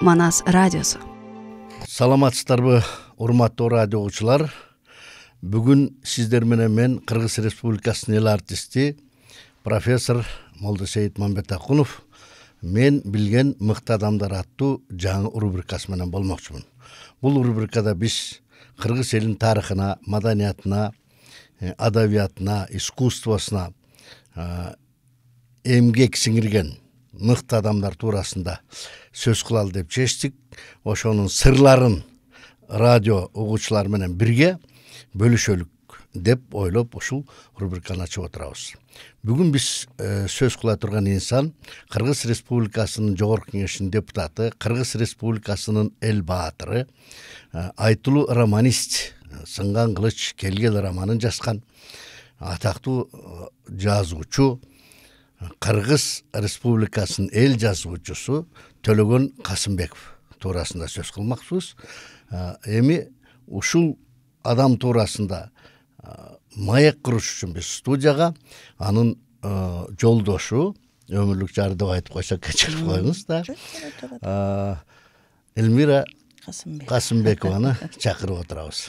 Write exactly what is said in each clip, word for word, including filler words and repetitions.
Манас радиосу. Саламатсыздарбы, урматтуу радио угуучулар. Бүгүн сиздер менен мен Кыргыз Республикасынын эл артисти профессор Молдосейит Мамбетакунов мен билген мыкты адамдар аттуу жаңы рубрикасы менен болмокчумун. Бул рубрикада биз кыргыз элинин тарыхына, маданиятына, адабиятына, искусствосуна эмгек сиңирген мыкты адамдар туурасында сөз кылалы деп чечтик. Ошонун сырларын радио угуучулар менен бирге бөлүшөлүк деп ойлоп ушул рубриканы ачып отурабыз. Бүгүн биз сөз кыла турган инсан Кыргыз Республикасынын Жогорку Кеңешинин депутаты, Кыргыз Республикасынын эл баатыры, айтылуу романист, Сынган кылыч келгел романын жазган атактуу жазуучу, Кыргыз Республикасынын эл жазуучусу Төлөгөн Касымбеков туурасында сөз кылмакчыбыз. Эми ушул адам туурасында маек куруш үчүн биз студияга анын жолдошу, өмүрлүк жары деп айтып койсок кечирип коюңуз да, Элмира Касымбекованы чакырып отурабыз.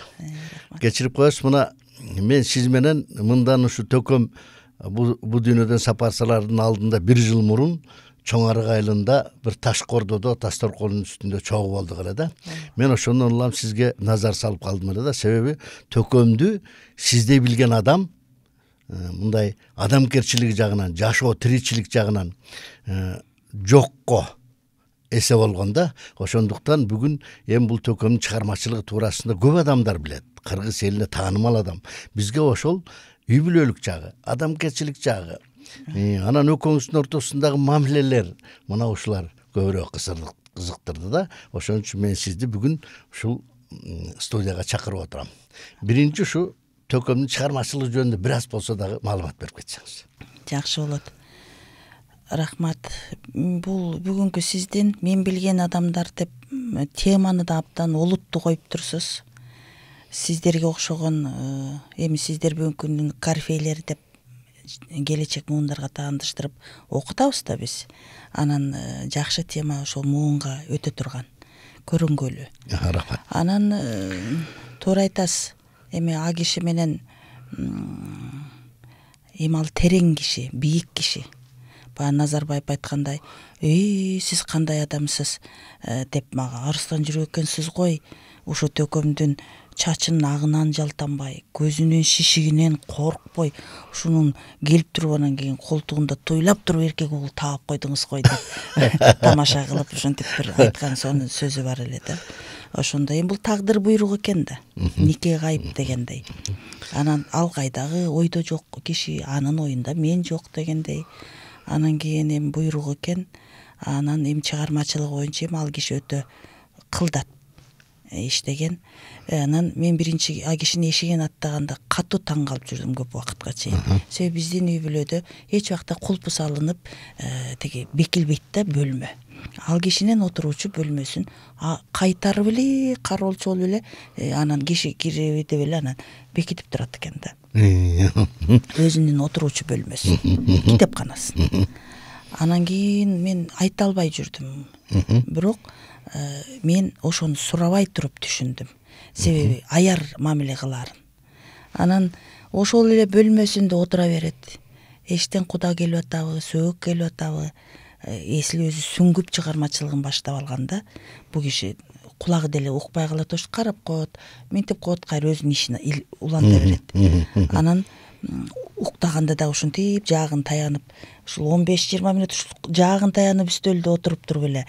Кечирип коесуз, мына мен сиз менен мындан ушу төкөм бу дүйнөдөн сапарсалардын алдында бир жыл мурун Чоң Арык айылында бир таш кордодо Тастөркөнүн үстүндө чогуу болдук эле да. Мен ошондон улам сизге назар салып калдым эле да, себеби төкөмдү сиздей билген адам мындай адамгерчилиги жагынан, жашоо тиричилик жагынан жокко эсе болгон да. Ошондуктан бүгүн эми бул төкөмдүн чыгармачылыгы туурасында көп адамдар билет. Кыргыз элине таанымал адам. Бизге ошол үй бүлөлүк жагы, адамгерчилик жагы, анан экөөңүздүн ортосундагы мамилелер, мына ушулар көбүрөөк кызыктырды да. Ошон үчүн мен сизди бүгүн ушул студияга чакырып отурам. Биринчи ушу төкөмдүн чыгармачылыгы жөнүндө бир аз болсо дагы маалымат берип кетсеңиз. Жакшы болот. Рахмат. Бул бүгүнкү сиздин мен билген адамдар деп теманы да абдан олуттуу коюп турсуз. Сиздерге окшогон эми сиздер бүгүнкү күндүн корифейлери деп келечек муундарга таандыштырып окутабыз да биз. Анан жакшы тема ошол муунга өтө турган, көрүнгөлү. Рахмат. Анан туура айтасыз. Эми а киши менен эми ал терең киши, бийик киши. Баягы Назарбаев айткандай, "Эй, сиз кандай адамсыз?" деп мага арыстан жүрөк экенсиз гой. Ошо төкөмдүн чачынын агынан жалтанбай, көзүнүн шишигинен коркпой, ушунун келип туруп анан кийин колтугунда туйлап туруп эркек угул таап койдуңуз гой деп тамаша кылып ушинтип бир айткан сонун сөзү бар эле да. Ошондой эми бул тагдыр буйрук экен да. Нике кайып дегендей. Анан ал кайдагы ойдо жок киши, анын оюнда мен жок дегендей. Анан кийин эми буйрук экен. Анан эми чыгармачылыгы боюнча эми ал киши өтө кылдат иштеген. Анан мен биринчи а кишини эшигин аттаганда катуу таң калып жүрдүм көп убакытка чейин. Себеби биздин үй бүлөдө эч убакта кулпу салынып теги бекилбейт да бөлмө. Ал кишинин отуруучу бөлмөсүн кайтарып эле, кароолчу болуп эле анан киши кирип деп эле анан бекитип турат экен да. Өзүнүн отуруучу бөлмөсүн, китепканасын. Анан кийин мен айта албай жүрдүм. Бирок мен ошону сурабай туруп түшүндүм. Себеби аяр мамиле кыларын. Анан ошол эле бөлмөсүндө отура берет. Эштен куда келип атабы, сөөк келип атабы, эсли өзү сүңгүп чыгармачылыгын баштап алганда, бул киши кулагы деле укпай калат, ош карап коет, минтип коет, кайра өзүнүн ишине уланта берет. Анан уктаганда да ушинтип жаагын таянып, ушул он беш жыйырма мүнөт ушул жаагын таянып үстөлдө отуруп туруп эле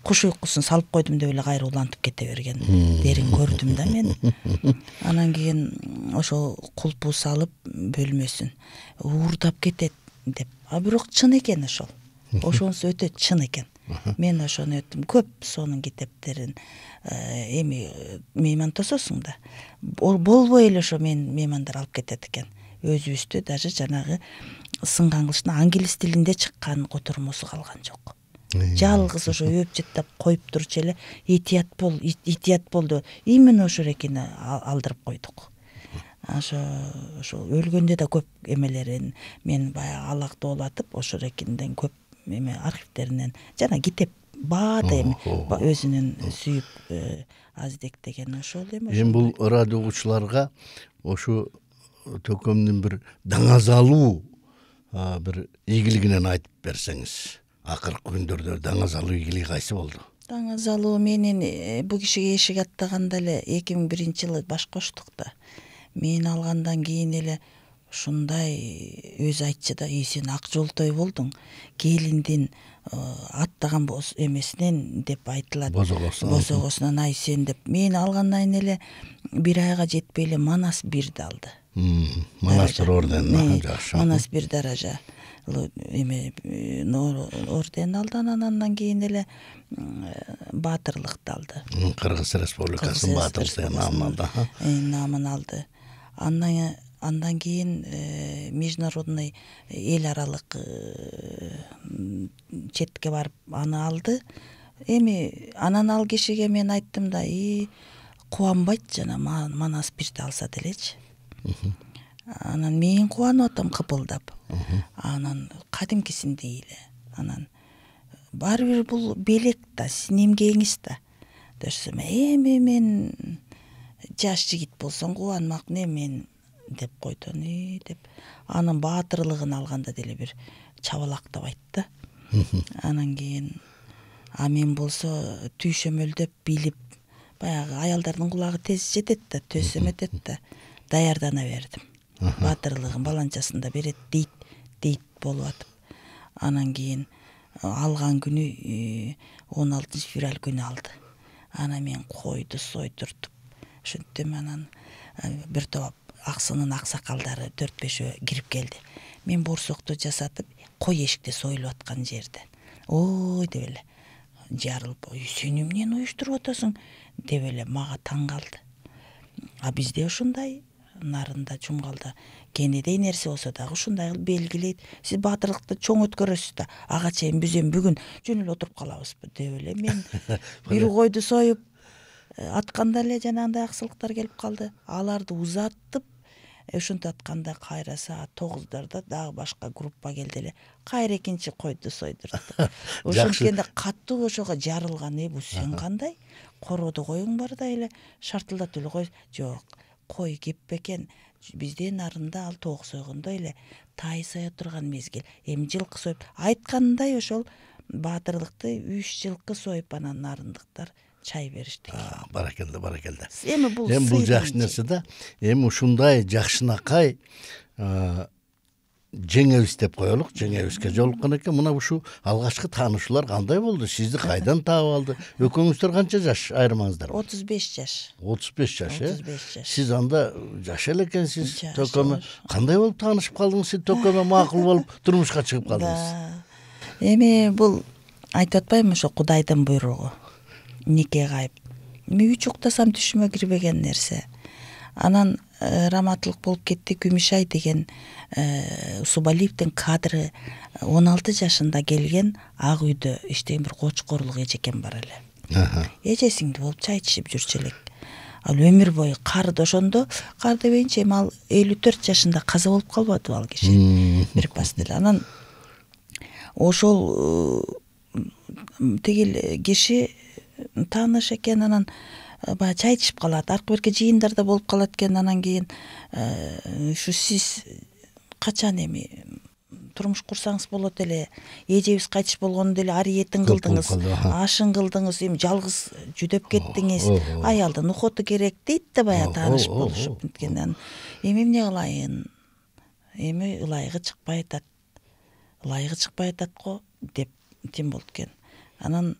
куш уйкусун салып койдум деп эле кайра улантып кете берген дерин көрдүм да мен. Анан кийин ошо кулпу салып бөлмөсүн уурдап кетет деп. А бирок чын экен ошол. Ошонусу өтө чын экен. Мен ошону өттүм. Көп сонун китептерин эми мейман тососуң да. Болбой эле ошо мен меймандар алып кетет экен. Өзүбүздө даже жанагы Сынган кылычтын англис тилинде чыккан котормосу калган жок. Жалгыз ошо өп жыттап коюп турчу эле этият бол, этият болду. Именно ошо рекини алдырып койдук. Ошо ошо өлгөндө да көп эмелерин мен баягы алактоолатып ошо рекинден көп эме архивтеринен жана китеп баада эми өзүнүн сүйүп аздектеген ошол эми. Эми бул радио угуучуларга ошу төкөмдүн бир даңазалуу бир ийгилигинен айтып берсеңиз, акыркы күндөрдө даңазалуу ийгилиги кайсы болду? Даңазалуу менин бул кишиге эшик аттаганда эле эки миң биринчи жылы баш коштук да. Мен алгандан кийин эле ушундай өзү айтчу да, үй сен ак жолтой болдуң, келиндин аттаган эмесинен деп айтылат. Бозогосунан ай сен деп. Мен алгандан кийин эле бир айга жетпей эле Манас бирди алды. Манас бир орден, жакшы. Манас бир даража эме орден алды, анан кийин эле баатырлыкты алды. Кыргыз Республикасынын баатырлык намын алды. Намын алды. Андан андан кийин международный эл аралык четке барып аны алды. Эми анан ал кишиге мен айттым да, и кубанбайт жана Манас бирди алса делечи. Анан мен кубанып атам кыпылдап. Анан кадимкисиндей эле. Анан баары бир бул белек да, сиздин эмгегиңиз да. Десем, эми мен жаш жигит болсоң кубанмакмын, эми мен деп койду. И деп анын баатырлыгын алганда деле бир чабалактап айтты. Анан кийин а мен болсо түйшөмөлдөп билип, баягы аялдардын кулагы тез жетет да, төсөм этет да, даярдана бердим. Баатырлыгын баланчасында берет дейт, дейт болуп атып. Анан кийин алган күнү он алтынчы февраль күнү алды. Анан мен койду сойдуртуп, ошентем анан бир топ аксынын аксакалдары төрт бешөө кирип келди. Мен борсокту жасатып, кой эшикте союлуп аткан жерден. Ой деп эле жарылып, сен эмнени уюштуруп атасың деп эле мага таң калды. А бизде ушундай нарында жумгалда кенедей нерсе болсо дагы ушундай кылып белгилейт. Сиз баатырлыкты чоң өткөрөсүз да, ага чейин биз эми бүгүн жөн эле отуруп калабызбы деп эле мен бир койду союп атканда эле жанагындай аксылыктар келип калды. Аларды узаттып, ошентип атканда кайра саат тогуздарда дагы башка группа келди эле. Кайра экинчи койду сойдуртту. Ошенткенде катуу ошого жарылган. Э бу сен кандай? Короодо коюң бар да эле шартылдатып эле кой. Жок, кой кеп бекен. Бизде нарында ал тоок сойгондо эле тай сая турган мезгил. Эми жылкы союп айткандай ошол баатырлыкты үч жылкы союп анан нарындыктар чай беришти. Баракелде, баракелде. Эми бул эми бул жакшы нерсе да. Эми ушундай жакшынакай жеңебиз деп коелук. Жеңебизге жолуккан экен. Мына ушу алгачкы таанышуулар кандай болду? Сизди кайдан таап алды? Экөөңүздөр канча жаш айырмаңыздар? отуз беш жаш. отуз беш жаш, э? отуз беш жаш. Сиз анда жаш эле экенсиз. Төкөмө кандай болуп таанышып калдыңыз? Сиз төкөмө макул болуп турмушка чыгып калдыңыз. Эми бул айтып атпаймынбы, ошо Кудайдын буйругу. Нике кайып. Мен үч уктасам түшүмө кирбеген нерсе. Анан раматылык болуп кетти. Күмүшай деген Усубалиевдин кадры он алты жашында келген ак үйдө иштеген бир кочкорлук эжекен бар эле. Эжесиңди болуп чай ичип жүрчү элек. Ал өмүр бою карды ошондо, кар дебейинчи эми ал элүү төрт жашында каза болуп калбадыбы ал киши. Бир пас деле. Анан ошол тигил киши тааныш экен, анан баягы чай ичип калат, аркы берки жыйындарда болуп калат экен. Анан кийин ушу сиз качан эми турмуш курсаңыз болот эле, эжебиз кайтыш болгондо эле ариетин кылдыңыз, ашын кылдыңыз, эми жалгыз жүдөп кеттиңиз, аялдын ухоту керек дейт да баягы тааныш болушуп кеткенден. Эми эмне кылайын? Эми ылайыгы чыкпай атат. Ылайыгы чыкпай атат го деп тим болду экен. Анан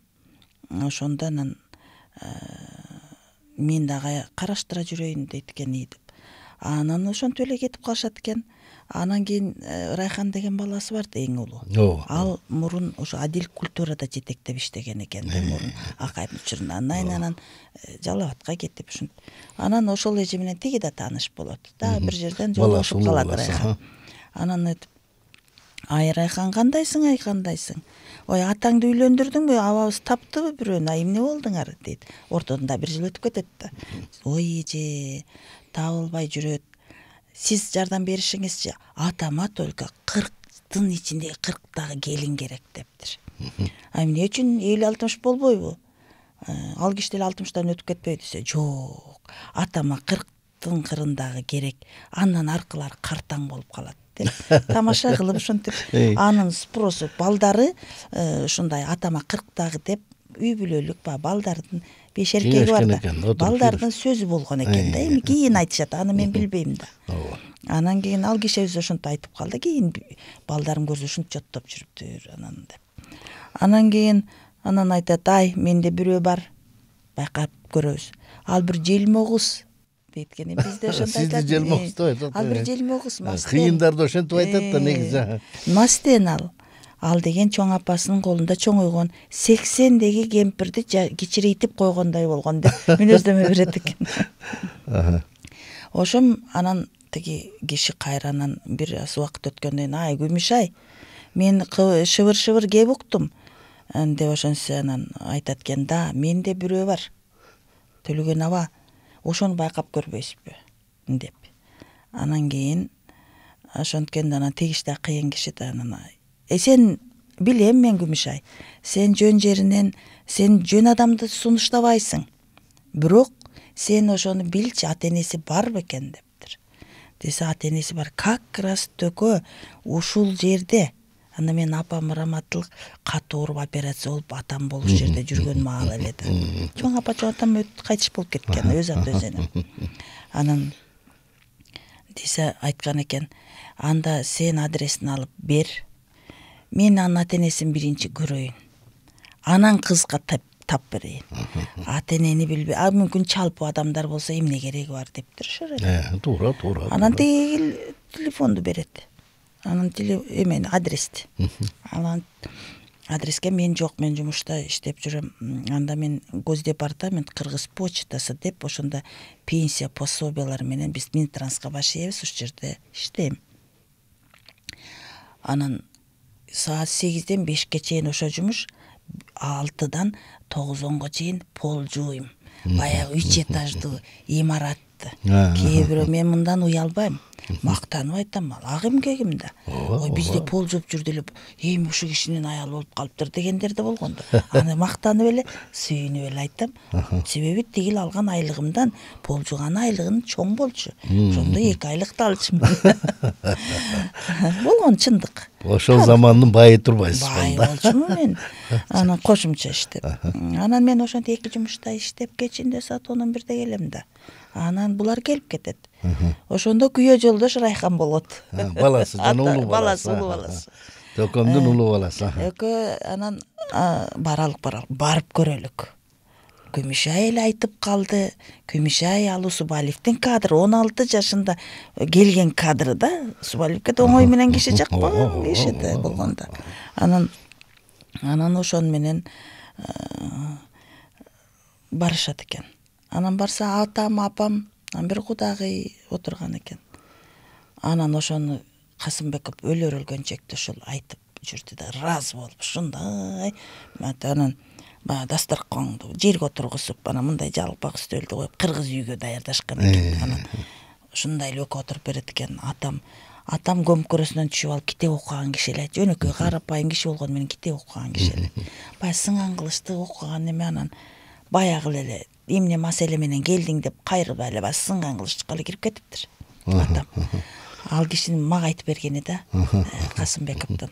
ошондо анан мен дагы караштыра жүрөйүн дейт экен и деп. Анан ошентип эле кетип калышат экен. Анан кийин Райхан деген баласы бар да, эң улуу. Ал мурун ошо Адил культурада жетектеп иштеген экен да, мурун Акайдын учурунда. Анан Жалал Абадка кетип ушинтип. Анан ошол эже менен тиги да тааныш болот. Да бир жерден жолугушуп калат Райхан. Анан айтып, ай Райхан кандайсың, ай кандайсың? Ой, атаңды үйлөндүрдүңбү? Абабыз таптыбы бирөөнү? Ай эмне болдуңар дейт. Ортодон бир жыл өтүп кетет да. Ой эже, табылбай жүрөт. Сиз жардам беришиңизчи, атама только кырктын ичинде кырктагы келин керек дептир. А эмне үчүн элүү алтымыш болбойбу? Ал киши деле алтымыштан өтүп кетпейби десе, жок, атама кырктын кырындагы керек, андан аркылары картаң болуп калат деп тамаша кылып ушинтип анын спросу балдары ушундай атама кырктагы деп үй бүлөлүк баягы балдардын беш эркеги бар да, балдардын сөзү болгон экен да. Эми кийин айтышат, аны мен билбейм да. Анан кийин ал кишибиз ушинтип айтып калды, кийин балдарым көрсө ушинтип жоттоп жүрүптүр анан деп. Анан кийин анан айтат, ай, менде бирөө бар, байкап көрөбүз. Ал бир желмогуз дейт экен. Бизде ошондой айтат. Сизди желмогуз деп айтат. Ал бир желмогуз, мастен. Кыйындарда ошентип айтат да негизи. Мастен ал. Ал деген чоң апасынын колунда чоңойгон сексендеги кемпирди кичирейтип койгондой болгон деп мүнөздөмө берет экен. Ошом анан тиги киши кайранан бир аз убакыт өткөндөн кийин, ай, Күмүш-ай, мен шыбыр-шыбыр кеп уктум деп ошонсо анан айтат экен, да, менде бирөө бар, Төлөгөн аба, ошону байкап көрбөйсүзбү деп. Анан кийин ошонткенде анан тегиштей кыйын киши да анан, Э сен билем мен, Күмүш-ай, сен жөн жеринен, сен жөн адамды сунуштабайсың. Бирок сен ошону билчи, ата энеси бар бекен дептир. Десе, ата энеси бар. Как раз төкө ушул жерде. Анда мен апам раматтылык катуу ооруп операция болуп атам болуш жерде жүргөн маал эле да. Чоң апа, чоң атам кайтыш болуп кеткен, өз аты өз эне. Анан десе айткан экен, анда сен адресин алып бер. Мен анын ата энесин биринчи көрөйүн. Анан кызга тап берейин. Ата энени билбей, а мүмкүн чалпы адамдар болсо эмне кереги бар дептир ошо эле. Э, туура, туура. Анан тиги телефонду берет. Анан эмени адрести. Анан адреске мен жок, мен жумушта иштеп жүрөм. Анда мен Госдепартамент, Кыргыз почтасы деп ошондо пенсия пособиялары менен биз Минтранска баш ийебиз, ушул жерде иштейм. Анан саат сегизден бешке чейин ошо жумуш, алтыдан тогузонго чейин пол жууйм. Баягы үч этаждуу имаратты. Кээ бирөө мен мындан уялбайм. Мактанып айтам, ал эмге ким да. Ой, бизде пол жууп жүрдү эле, эми ушул кишинин аялы болуп калыптыр дегендер да болгон да. Аны мактанып эле, сүйүнүп эле айтам. Себеби тигил алган айлыгымдан пол жууган айлыгын чоң болчу. Ошондо эки айлыкты алчумун. Болгон чындык. Ошол замандын байы турбайсыз бай болчумун мен. Анан кошумча иштеп. Анан мен ошентип эки жумушта иштеп кечинде саат он бирде келем да. Анан булар келип кетет. Ошондо күйөө жолдош Райхан болот. Баласы, жана улуу баласы. Баласы, улуу баласы. Төкөмдүн улуу баласы. Экөө анан баралык баралык барып көрөлүк. Күмүш-ай эле айтып калды. Күмүш-ай, ал Усубалиевдин кадры, он алты жашында келген кадры да. Усубалиевке да оңой менен киши жакпаган киши да болгондо. Анан анан ошон менен барышат экен. Анан барса атам, апам, бир кудагый отурган экен. Анан ошону Касымбеков өлөр өлгөнчөктө ушул айтып жүрдү да, разы болуп, ушундай. Анан баягы дасторконду жерге отургузуп, анан мындай жалпак үстөлдү коюп, кыргыз үйгө даярдашкан экен. Анан ушундай эле экөө отуруп берет экен. Атам, атам көмкөрөсүнөн түшүп алып китеп окуган киши эле. Жөнөкөй карапайым киши болгону менен китеп окуган киши эле. Баягы сыңан кылычты окуган эме, анан баягы эле эмне маселе менен келдиң деп кайрылбай эле баягы сыңган кылычка эле кирип кетиптир атам. Ал кишинин мага айтып бергени да, Касымбековдон.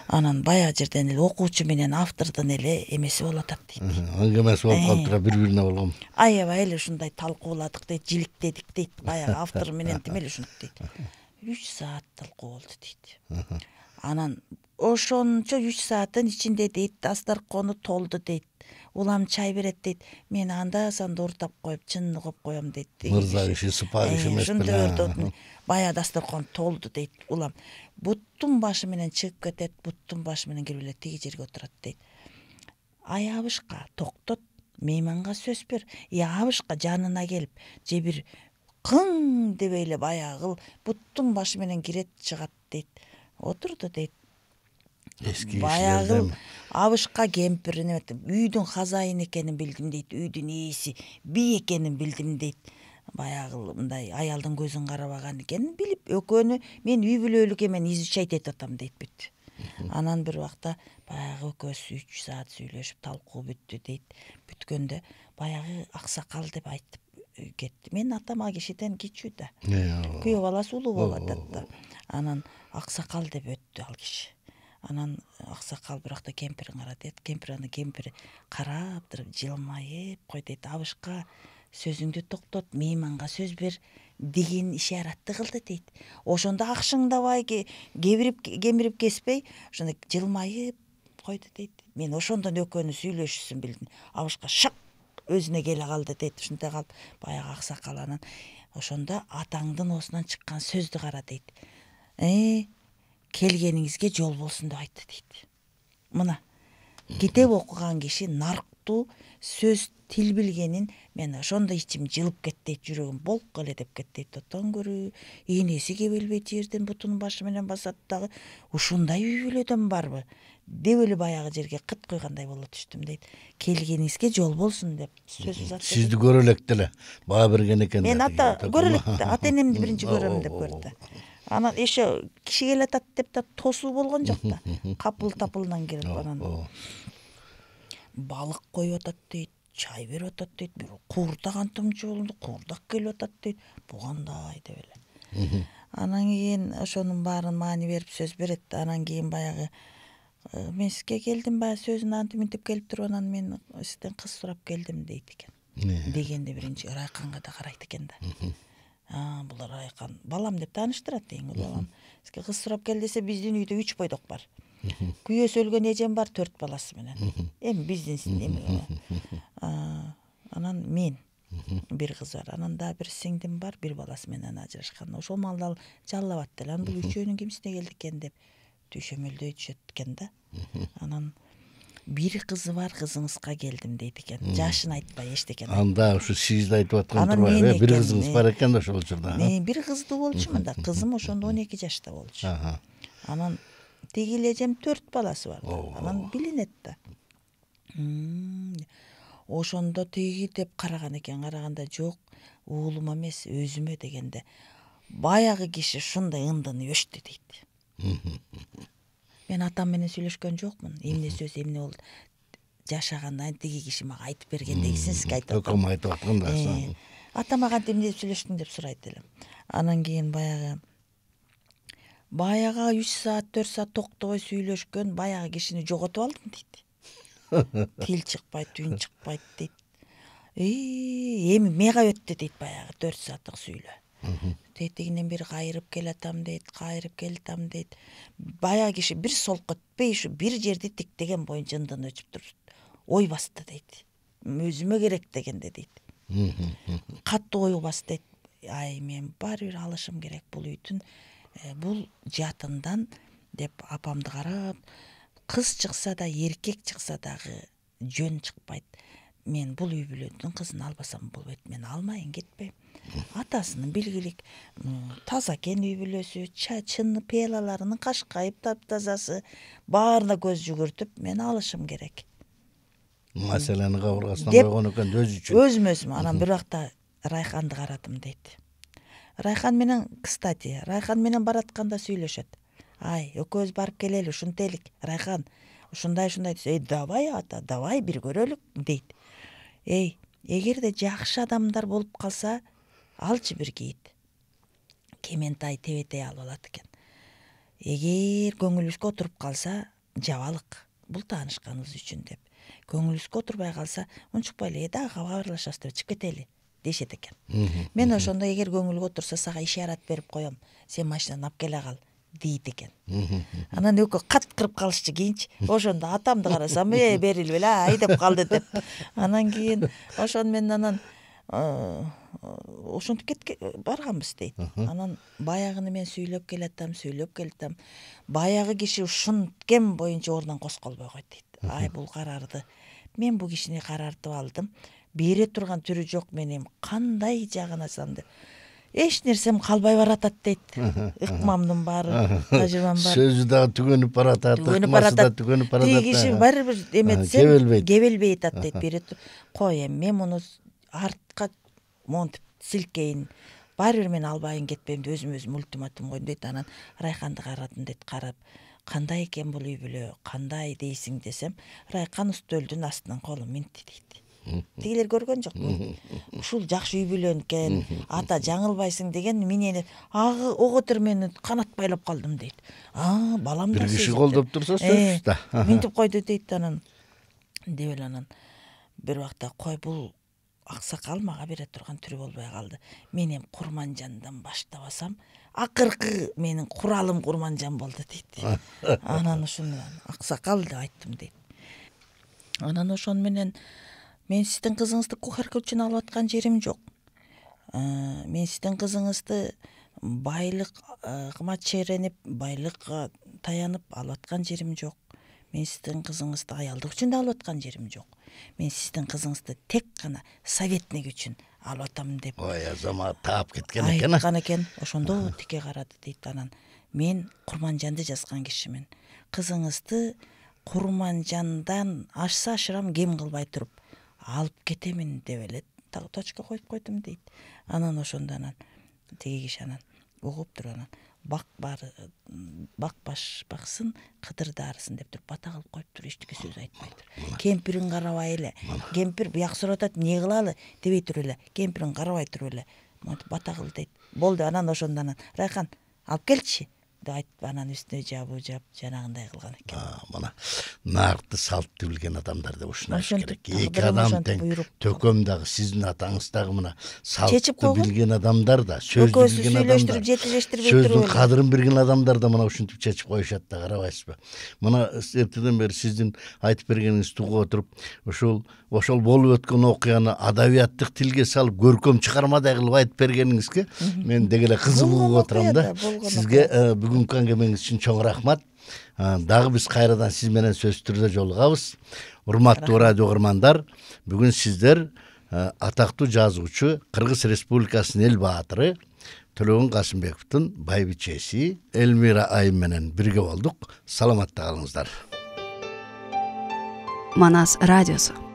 Анан баягы жерден эле окуучу менен автордун эле эмеси болуп атат дейт. Аңгемеси болуп калыптыр, бири-бирине болгон. Аябай эле ушундай талкууладык дейт, жиликтедик дейт, баягы автор менен тим эле ушинтип дейт. үч саат талкуу болду дейт. Анан ошончо үч сааттын ичинде дейт, дасторкону толду дейт. Улам чай берет дейт. Мен анда санда уртап коюп, чынын коюп коем дейт. Мырза киши, сыпа киши эмес беле. Баягы дасторкон толду дейт. Улам буттун башы менен чыгып кетет, буттун башы менен кирип эле тиги жерге отурат дейт. Ай, Абышка, токтот, мейманга сөз бер. И Абышка жанына келип, же бир кың дебей эле баягы буттун башы менен кирет, чыгат дейт. Отурду дейт. Эски баягы Абышка кемпирин үйдүн хазайын экенин билдим дейт, үйдүн ээси бий экенин билдим дейт. Баягы мындай аялдын көзүн карабаган экенин билип, экөөнү мен үй бүлөлүк эмени изучать этип атам дейт бүт. Анан бир убакта баягы экөөбүз үч саат сүйлөшүп талкуу бүттү дейт. Бүткөндө баягы аксакал деп айтып кетти. Менин атам а кишиден кичүү да. Күйөө баласы улуу болуп атат да. Анан аксакал деп өттү ал киши. Анан аксакал бир убакта кемпирин карады дейт. Кемпир аны кемпири карап туруп жылмайып койт дейт. Абышка сөзүңдү токтот, мейманга сөз бер деген ишаратты кылды дейт. Ошондо акшыңдабай кебирип кемирип кеспей ошондой жылмайып койду дейт. Мен ошондон экөөнүн сүйлөшүүсүн билдим. Абышка шак өзүнө келе калды дейт. Ушундай калып баягы аксакал анан ошондо атаңдын оосунан чыккан сөздү кара дейт. Э келгениңизге жол болсун деп айтты дейт. Мына китеп окуган киши нарктуу сөз тил билгенин мен ошондо ичим жылып кетти, жүрөгүм болк эле деп кетти. Тотон көрүү, энеси кебелбейт жерден бутунун башы менен басат дагы. Ушундай үй бүлөдөн барбы деп эле баягы жерге кыт куйгандай боло түштүм дейт. Келгениңизге жол болсун деп сөз узатты. Сизди көрө электе эле баа берген экен. Мен ата көрө электе, ата энемди биринчи көрөм деп көрдү. Анан еще киши келатат деп да тосуу болгон жок да. Капыл тапылынан кирип анан балык коюп атат дейт, чай берип атат дейт, бир куурдак антымчы болду, куурдак келип атат дейт. Бу кандай деп эле. Анан кийин ошонун баарын маани берип сөз берет. Анан кийин баягы мен сизге келдим, баягы сөзүн антип мынтип келип туруп, анан мен сизден кыз сурап келдим дейт экен. Дегенде биринчи Райканга да карайт экен да. А, бул Райкан балам деп тааныштырат эң улуу балам. Сизге кыз сурап кел десе, биздин үйдө үч бойдок бар. Күйөөсү өлгөн эжем бар, төрт баласы менен. Эми биздин эми. Анан мен бир кыз бар. Анан да бир сиңдим бар, бир баласы менен ажырашкан. Ошол маалда ал жаллап атты. Анан бул үчөөнүн кимисине келдик экен деп түшөмөлдөй түшөт экен да. Анан бир кызы бар, кызыңызга келдим дейт экен. Жашын айтпай эчтеке экен. Анда ушу сизди айтып аткан турбайбы? Бир кызыңыз бар экен да ошол учурда. Мен бир кыздуу болчумун да. Кызым ошондо он эки жашта болчу. Анан тиги эле эжем төрт баласы бар. Анан билинет да. Ошондо тиги деп караган экен. Караганда жок, уулума эмес, өзүмө дегенде баягы киши ушундай ындыны өчтү дейт. Мен атам менен сүйлөшкөн жокмун. Эмне сөз, эмне болду? Жашагандан тиги киши мага айтып бергендегисин сизге айтып атам. Өкөм айтып аткан да. Атам ага эмне деп сүйлөштүң деп сурайт элем. Анан кийин баягы баягы үч саат, төрт саат токтобой сүйлөшкөн баягы кишини жоготуп алдым дейт. Тил чыкпайт, үн чыкпайт дейт. Эми мега өттү дейт баягы төрт сааттык сүйлөө. Тетигинен бир кайрып келатам дейт, кайрып келатам дейт. Баягы киши бир солко өтпөй ушу бир жерди тиктеген боюнча ындын өчүп туруп ой басты дейт. Өзүмө керек дегенде дейт. Каттуу ой басты дейт. Ай, мен баары бир алышым керек бул үйдүн, бул жатындан деп апамды карап, кыз чыкса да, эркек чыкса дагы жөн чыкпайт. Мен бул үй бүлөнүн кызын албасам болбойт. Мен алмайын, кетпейм. Атасынын билгилик таза экен үй бүлөсү, чачын, пелаларынын кашкайып таптазасы, баарына көз жүгүртүп, мен алышым керек. Маселени кабыргасына койгон экен өзү үчүн. Өзүм өзүм. Анан бир убакта Райханды карадым дейт. Райхан менен, кстати, Райхан менен баратканда сүйлөшөт. Ай, экөөбүз барып келели, ушинтелик. Райхан, ушундай-ушундай десе, эй, давай ата, давай бир көрөлүк дейт. Эй, эгерде жакшы адамдар болуп калса, алчы бир кийит. Кементай тебетей алып алат экен. Эгер көңүлүбүзгө отуруп калса, жабалык. Бул таанышканыбыз үчүн деп. Көңүлүбүзгө отурбай калса, унчукпай эле, дагы кабарлашасыз деп чыгып кетели дешет экен. Мен ошондо эгер көңүлгө отурса, сага ишарат берип коем. Сен машинаны алып келе кал дейт экен. Анан экөө кат кырып калышчы кийинчи. Ошондо атамды карасам, э, берилбе эле, ай деп калды деп. Анан кийин ошону мен анан ошентип кетке барганбыз дейт. Анан баягыны мен сүйлөп келатам, сүйлөп келатам. Баягы киши ушунткем боюнча ордунан козголбой койт дейт. Ай, бул карарды мен бул кишини карартып алдым. Бере турган түрү жок, мен эми кандай жагынасам деп. Эч нерсем калбай баратат дейт. Ыкмамдын баары, тажрыйбам баары. Сөзү дагы түгөнүп баратат, ыкмасы да түгөнүп баратат. Тиги киши баары бир эметсем кебелбей атат дейт. Бере кой эми мен муну артка монтип силкейин. Баары бир мен албайын, кетпейм деп өзүм өзүм ультиматум койдум дейт. Анан Райханды карадым дейт, карап кандай экен бул үй бүлө, кандай дейсиң десем, Райкан үстөлдүн астынан колун минтти дейт. Тигилер көргөн жокпу? Ушул жакшы үй бүлө экен, ата жаңылбайсың деген менен агы оготер мени канат байлап калдым дейт. А, балам да бир киши колдоп турса сөзсүз да. Минтип койду дейт анан. Деп эле анан бир убакта кой бул аксакал мага бере турган түрү болбой калды. Мен эми Курманжандан баштабасам, акыркы менин куралым Курманжан болду дейт. Анан ошону аксакал деп айттым дейт. Анан ошону менен мен сиздин кызыңызды кухарка үчүн алып аткан жерим жок. Мен сиздин кызыңызды байлыкка чейренип, байлыкка таянып алып аткан жерим жок. Мен сиздин кызыңызды аялдык үчүн да алып аткан жерим жок. Мен сиздин кызыңызды тек гана советник үчүн алып атам деп. Ой, азамат таап кеткен экен. Айткан экен. Ошондо тике карады дейт анан. Мен Курманжанды жазган кишимин. Кызыңызды Курманжандан ашса ашырам кем кылбай туруп алып кетемин деп эле точка коюп койдум дейт. Анан ошондо анан тиги киши анан угуп туруп анан бак бар бак баш баксын, кыдыр даарысын деп туруп бата кылып коюп туруп эчтеке сөз айтпай тур. Кемпирин карабай эле. Кемпир буяк сурап атат, эмне кылалы дебей туруп эле. Кемпирин карабай туруп эле бата кыл дейт. Болду, анан ошондо анан Райкан алып келчи деп айтып анан үстүнө жабуу жап жанагындай кылган экен. Мына наркты салтты билген адамдар деп ушундай керек. Эки адам адам тең, төкөм дагы сиздин атаңыз дагы мына салтты билген адамдар да, сөздү билген адамдар, жетилештирбей сөздүн кадырын билген адамдар да мына ушинтип чечип коюшат да, карабайсызбы? Мына эртеден бери сиздин айтып бергениңизди угуп отуруп, ушул ошол болуп өткөн окуяны адабияттык тилге салып, көркөм чыгармадай кылып айтып бергениңизге мен деги эле кызыгып угуп отурам да. Сизге бүгүнкү аңгемеңиз үчүн чоң рахмат. Дагы биз кайрадан сиз менен сөзсүз түрдө жолугабыз. Урматтуу радио угармандар, бүгүн сиздер атактуу жазуучу, Кыргыз Республикасынын эл баатыры Төлөгөн Касымбековдун байбичеси Элмира айым менен бирге болдук. Саламатта калыңыздар. Манас радиосу.